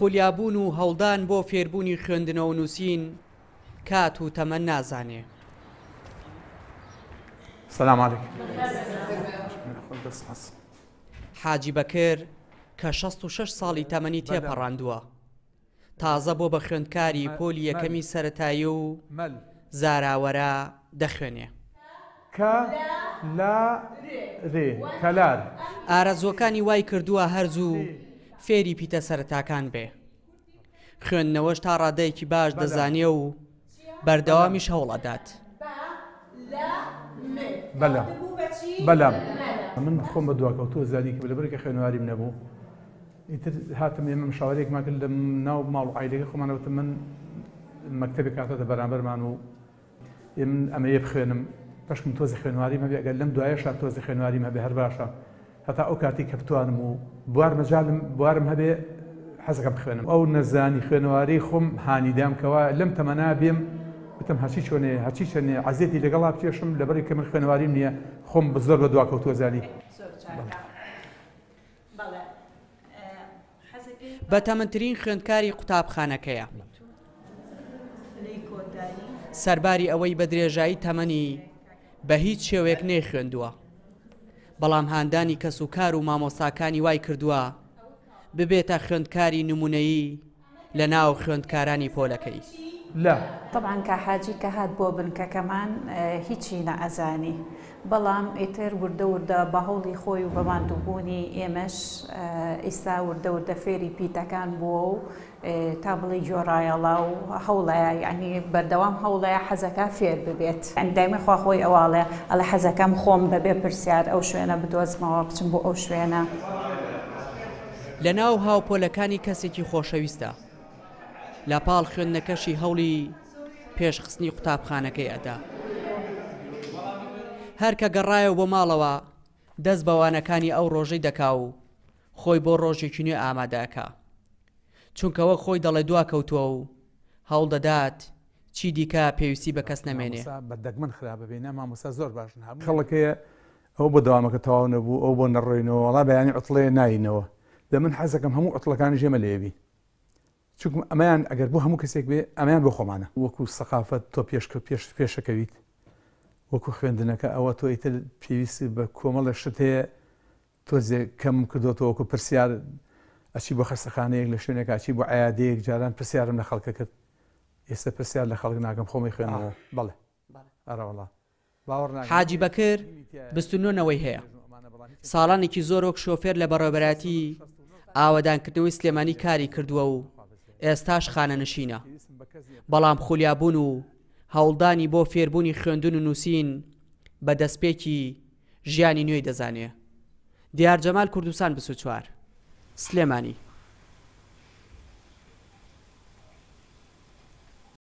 خولیابوون و هەوڵدان بۆ فێربوونی خوێندنەوە و نووسین کات و تەمەن نازانێ. سلام علیکم. حاجی بەکر کە 66 ساڵی تەمەنی تێپەڕاندووە، تازە بۆ بە خوێندکاری پۆلی یەکەمی سەرەتایی و زاراوەرە دەخوێنێ. کە لا رێ، کەلار. ئارەزووەکانی وای کردووە هەر زوو فێری پیتە سەرەتاکان بێ. خوێندنەوەش تا ڕادەیەکی باش دەزانێ و بەردەوامیش هەوڵ ئەدات. بەلام بەلام من خۆم بە دواکەوتوو زانی کە لەبەرئەوەی کە خوێنەواریم نەبوو ئیتر هاتم ئێمە مشاوەرەیەکمان کرد لە ناو ماڵ و عایلەکەی خۆمانە وتم من مەکتەبێک هاتۆتە بەرامبەرمان و ئێ من ئەمەیە بخوێنم بەشکم تۆزێ خوێنواریم هەبێ ئەگەر لەم دوایەشا تۆزێ خوێنواریم هەبێ هەر باشە هەتا ئەو کاتەی کە بتوانم و بوار مەجالم بوارم هەبێ حەزەکەم بخوێنم ئەو نەزانی خوێنەوارەی خۆم هانی دام کەوا لەم تەمەنا بێم وتم هەرچی چۆنێ هەرچی چەنێ عەزێتی لەگەڵا بکێشم لەبەری کە من خوێنەواریم نییە خۆم زۆر بە دواکەوتووە زانی. بەتەمەنترین خوێندکاری قوتابخانەکەیە. سەرباری ئەوەی بە درێژایی تەمەنی بە هیچ شێوەیەک نەیخوێندووە، بەڵام هاندانی کەسوکار و مامۆستاکانی وای کردووە ببێتە خوێندکاری نمونەیی لە ناو خوێندکارانی پۆلەکەی. لە. تەبعەن کا حاجی کە هات بۆ بنکەکەمان هیچی نەئەزانی بەڵام ئیتر وردە وردە بە هەوڵی خۆی و بە ماندووبوونی ئێمەش ئیستا وردە وردە فێری پیتەکان بووە و تا بڵێی گۆڕایەڵە و هەوڵەیە یانی بەردەوام هەوڵەیە حەزەکا فێر ببێت. یانی دایمە خوا خۆی ئەوە ئەڵێ ئەڵێ حەزەکەم خۆم بەبێ پرسیار ئەو شوێنە بدۆزمەوە بچم بۆ ئەو شوێنە. لە ناو هاوپۆلەکانی کەسێکی خۆشەویستە. لە پاڵ خوێندنەکەشی هەوڵی پێشخستنی قوتابخانەکەی ئەدا. هەر کە گەڕایەوە بۆ ماڵەوە دەست بە وانەکانی ئەو ڕۆژەی دەکا و خۆی بۆ ڕۆژێکی نوێ ئامادە ئەکا. چونکە وەک خۆی دەڵێ دواکەوتووە و هەوڵ دەدات چی دیکە پێویستی بە کەس نەمێنێ. مامۆستا بە دەگمەن خراپە بێ نا مامۆستا زۆر باشن هەموو خەڵک هەیە ئەوە بۆ دەوامەکە تەواو نەبوو ئەوە بۆ نەڕۆینەوە وەڵا بەیانی عوتڵەیە ناینەوە دە من حەزەکەم هەموو عوتڵەکانیش ئێمە لێ بین چونکم ئەمەیان ئەگەر بۆ هەموو کەسێک بێ ئەمەیان بۆ خۆمانە وەکو سەقافەت تۆ پێش پێش پێشەکەویت وەکو خوێندنەکە ئەوە تۆ ئیتر پێویست بە کۆمەڵە شت هەیە تۆزێک کەمم کردۆتەوە وەکو پرسیار ئەچی بۆ خەستەخانەیەک لە شوێنێک ئەچی بۆ عیادەیەک جاران پرسیارم لە خەڵکە کرد ئێستا پرسیار لە خەڵک ناکەم خۆمی خوێنەوە بەڵێ ئەرەوەڵا حاجی بەکر 29 نەوەی هەیە ساڵانێکی زۆر وەک شۆفێر لە بەڕێوەبەرایەتی ئاوەدانکردنەوەی سلێمانی کاری کردووە و ئێستاش خانەنشینە بەڵام خولیابوون و هەوڵدانی بۆ فێربوونی خوێندن و نووسین بە دەستپێکی ژیانی نوێی دەزانێ. دیار جەمال کوردستان 24 سلێمانی.